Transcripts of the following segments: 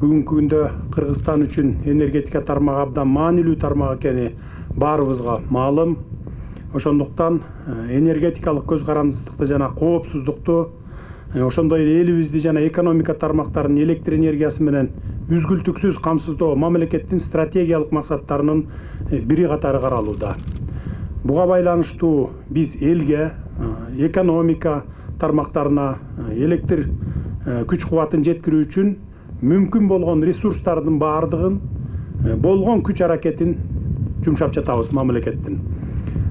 бүгүнкү күндө Кыргызстан үчүн энергетика тармагы абдан маанилүү тармак экени баарыбызга маалым. Ошондуктан энергетикалык көз карандысыздыкты жана коопсуздукту, ошондой эле элибизди жана экономика тармактарын электр энергиясы менен үзгүлтүксүз камсыздоо мамлекеттин стратегиялык максаттарынын бири катары каралууда. Буга байланыштуу биз элге, экономика тармактарына электр күч кубатын жеткирүү үчүн мүмкүн болгон ресурстардын баардыгын, болгон күч аракетин жумшап жатабыз мамлекеттин.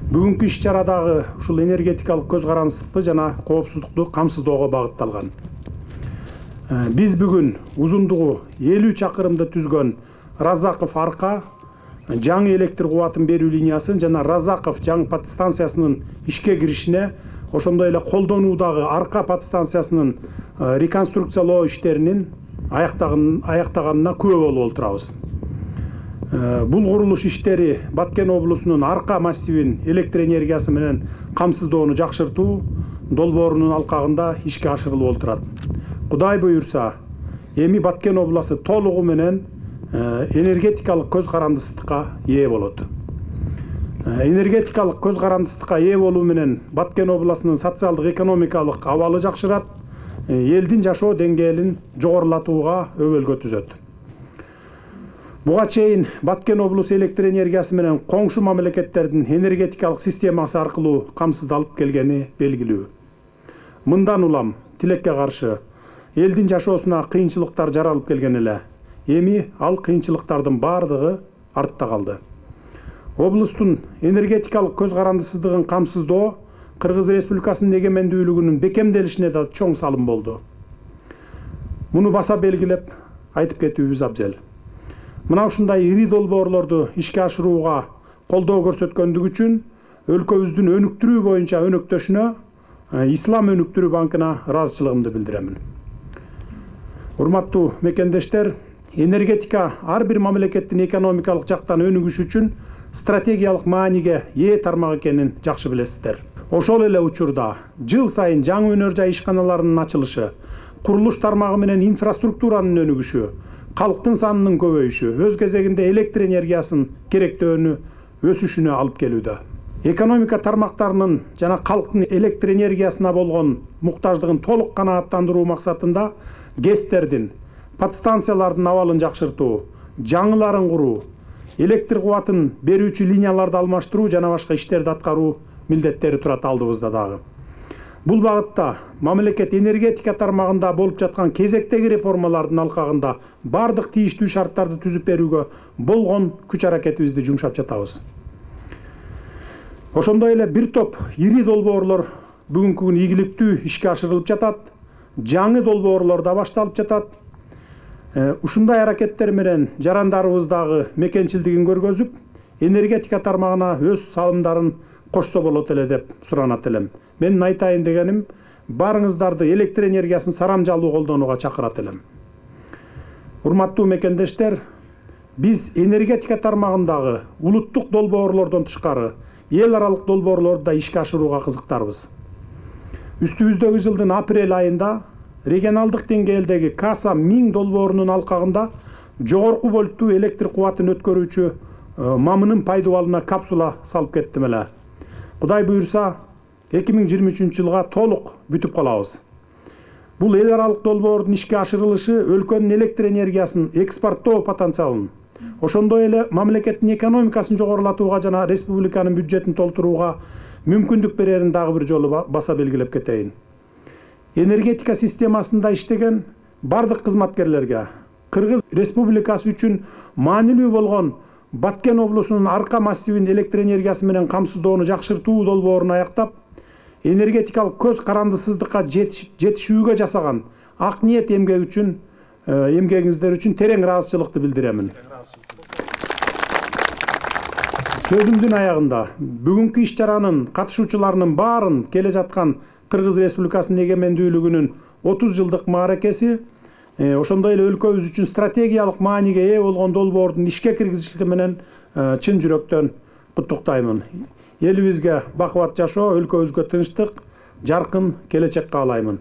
Бүгүнкү иш чарадагы ушул энергетикалык көз карандысыздыкты жана коопсуздукту камсыздоого багытталган. Биз бүгүн узундугу 50 чакырымды түзгөн Разаков арка жаңы электр кубатын берүү линиясын жана Разаков жаңы подстанциясынын ишке киришине, ошондой эле колдонуудагы арка подстанциясынын реконструкциялоо иштеринин аяктаганына күбө болуп отурабыз. Бул курулуш иштери Баткен облусунун арка массивин электр энергиясы менен камсыздоону жакшыртуу долбоорунун алкагында ишке ашырылып отурат. Кудай буюрса, эми Баткен обласу толугу менен энергетикалык көз карандысыздыкка ээ болот. Энергетикалык көз карандысыздыкка ээ болуу менен Баткен обласынын социалдык экономикалык абалы жакшырат, элдин жашоо деңгээлин жогорулатууга өбөлгө түзөт. Буга чейин Баткен облусу электр энергиясы менен коңшу мамлекеттердин энергетикалык системасы аркылуу камсыздалып келгени белгилүү. Мындан улам тилекке каршы элдин жашоосуна кыйынчылыктар жаралып келген эле. Эми ал кыйынчылыктардын баардыгы артта калды. Облустун энергетикалык көз карандысыздыгын камсыздоо Кыргыз Республикасынын эгемендүүлүгүнүн бекемделишине да чоң салым болду. Муну баса белгилеп айтып кетүүбүз абзел. Мына ушундай ири долбоорлорду ишке ашырууга колдоо көрсөткөндүгү үчүн өлкөбүздүн өнүктүрүү боюнча өнөктөшүнө Ислам өнүктүрүү банкына ыраазычылыгымды билдиремин. Урматтуу мекендештер, энергетика ар бир мамлекеттин экономикалык жактан өнүгүшү үчүн стратегиялык мааниге ээ тармак экенин жакшы билесиздер. Ошол эле учурда жыл сайын жаңы өнөр жай ишканаларынын ачылышы, курулуш тармагы менен инфраструктуранын өнүгүшү, калктын санынын көбөйүшү өз кезегинде электр энергиясынын керектөөнү өсүшүнө алып келүүдө. Экономика тармактарынын жана калктын электр энергиясына болгон муктаждыгын толук канааттандыруу максатында ГЭСтердин, подстанциялардын абалын жакшыртуу, жаңыларын куруу, электр кубатын берүүчү линияларды алмаштыруу жана башка иштерди аткаруу милдеттери турат алдыбызда дагы. Бул багытта мамлекет энергетика тармагында болуп жаткан кезектеги реформалардын алкагында бардык тийиштүү шарттарды түзүп берүүгө болгон күч аракетибизди жумшап жатабыз. Ошондой эле бир топ ири долбоорлор бүгүнкү күнү ийгиликтүү ишке ашырылып жатат, жаңы долбоорлор да башталып жатат. Ушундай аракеттер менен жарандарыбыз дагы мекенчилдигин көргөзүп, энергетика тармагына өз салымдарын кошсо болот эле деп суранат элем. Менин айтайын дегеним, баарыңыздарды электр энергиясын сарамжалуу колдонууга чакырат элем. Урматтуу мекендештер, биз энергетика тармагындагы улуттук долбоорлордон тышкары эл аралык долбоорлорду да ишке ашырууга кызыктарбыз. Үстүбүздөгү жылдын апрель айында регионалдык деңгээлдеги Каса 1000 долбоорунун алкагында жогорку вольттуу электр кубатын өткөрүүчү мамынын пайдубалына капсула салып кеттим эле. Кудай буюрса, 2023 жылга толук бүтүп калабыз. Бул эл аралык долбоордун ишке ашырылышы өлкөнүн электр энергиясын экспорттоо потенциалын, ошондой эле мамлекеттин экономикасын жогорулатууга жана республиканын бюджетин толтурууга мүмкүндүк берерин дагы бир жолу баса белгилеп кетейин. Энергетика системасында иштеген бардык кызматкерлерге Кыргыз Республикасы үчүн маанилүү болгон Баткен облусунун арка массивин электр энергиясы менен камсыздоону жакшыртуу долбоорун аяктап, энергетикалык көз карандысыздыкка жетишүүгө жасаган ак ниет эмгегиңиздер үчүн терең ыраазычылыкты билдиремин. Сөзүмдүн аягында бүгүнкү иш чаранын катышуучуларынын баарын келе жаткан Кыргыз Республикасынын эгемендүүлүгүнүн 30 жылдык мааракеси, ошондой эле өлкөбүз үчүн стратегиялык мааниге ээ болгон долбоордун ишке киргизилиши менен чын жүрөктөн куттуктаймын. Элибизге бакубат жашоо, өлкөбүзгө тынчтык, жаркын келечек каалаймын.